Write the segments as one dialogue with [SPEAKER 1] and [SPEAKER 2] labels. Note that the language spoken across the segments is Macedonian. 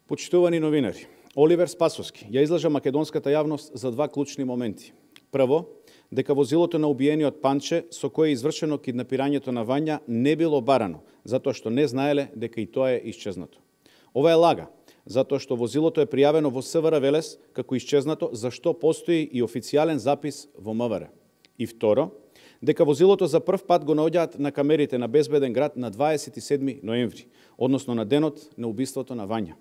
[SPEAKER 1] Почитувани новинари, Оливер Спасовски ја излажа македонската јавност за два клучни моменти. Прво, дека возилото на убиениот Панче, со кое е извршено киднапирањето на Вања, не било барано, затоа што не знаеле дека и тоа е исчезнато. Ова е лага, затоа што возилото е пријавено во СВР Велес како исчезнато, за што постои и официјален запис во МВР. И второ, дека возилото за прв пат го наоѓаат на камерите на Безбеден град на 27 ноември, односно на денот на убиството на Вања.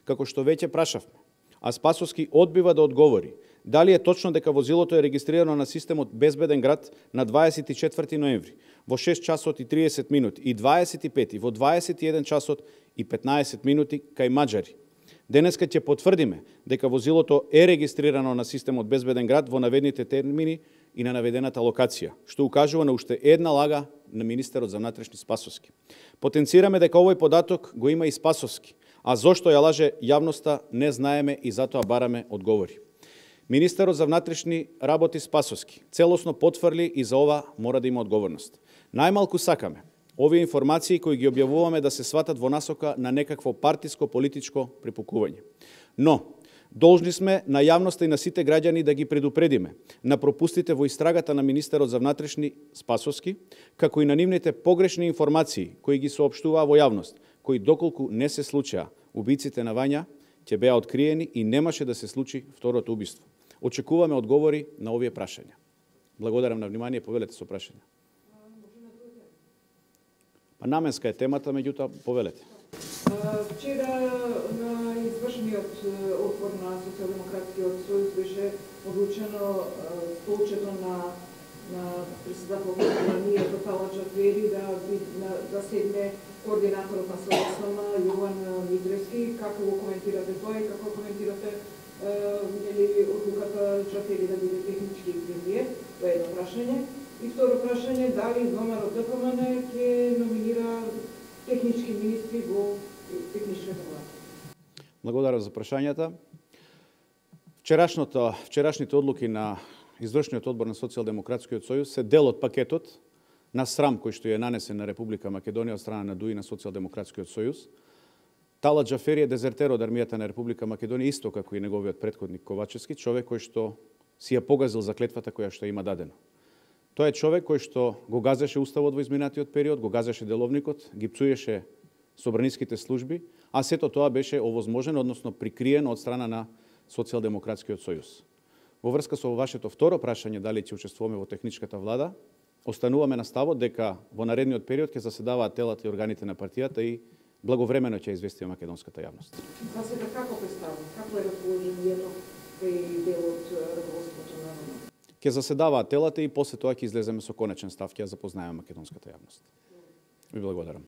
[SPEAKER 1] Како што веќе прашавме, а Спасовски одбива да одговори дали е точно дека возилото е регистрирано на системот Безбеден град на 24 ноември во 6 часот и 30 минути и 25 во 21 часот и 15 минути кај маđари. Денеска ќе потврдиме дека возилото е регистрирано на системот Безбеден град во наведените термини и на наведената локација, што укажува на уште една лага на министерот за внатрешни Спасовски. Потенцираме дека овој податок го има и Спасовски, а зошто ја лаже јавноста не знаеме и затоа бараме одговори. Министерот за внатрешни работи Спасовски целосно потврли и за ова мора да има одговорност. Најмалку сакаме овие информации кои ги објавуваме да се сватат во насока на некакво партиско-политичко препукување. Но, должни сме на јавноста и на сите граѓани да ги предупредиме на пропустите во истрагата на министерот за внатрешни Спасовски, како и на нивните погрешни информации кои ги соопштуваа во јавност, кои доколку не се случаа убиците на Вања, ќе беа откриени и немаше да се случи второто убиство. Очекуваме одговори на овие прашања. Благодарам на внимание, повелете со прашања. Па наменска е темата, меѓутоа повелете.
[SPEAKER 2] Вчера на извршениот отбор на Социјалдемократскиот сојуз беше одлучено столчето на председателот на ние Тала Џафери да седне координаторот на СДСМ Јован Мидревски. Како го коментирате тоа и како коментирате одлуката Џафери да биде технички премиер? Тоа е едно прашање. И второ прашање, дали ВМРО ДПМН ќе номинира технички министри во техничката влада?
[SPEAKER 1] Благодарам за прашањата. Вчерашните одлуки на извршниот одбор на Социјалдемократскиот сојуз се дел од пакетот на срам кој што е нанесен на Република Македонија од страна на ДУИ на Социјалдемократскиот сојуз. Тала Џафери е дезертер од армијата на Република Македонија, исто како и неговиот претходник Ковачевски, човек кој што си ја погазил заклетвата која што има дадено. Тоа е човек кој што го газеше уставот во изминатиот период, го газеше деловникот, ги пцуеше собраниските служби, а сето тоа беше овозможено, односно прикриено од страна на Социјалдемократскиот сојуз. Во врска со вашето второ прашање дали ќе учествуваме во техничката влада, остануваме на ставот дека во наредниот период ќе заседаваат телата и органите на партијата и благовремено ќе известиме македонската јавност.
[SPEAKER 2] За сега како представува? Како е расположението кај дел од раководството на НМ?
[SPEAKER 1] Ќе заседаваат телата и после тоа ќе излеземе со конечен став, ќе ја запознаеме македонската јавност. Ви благодарам.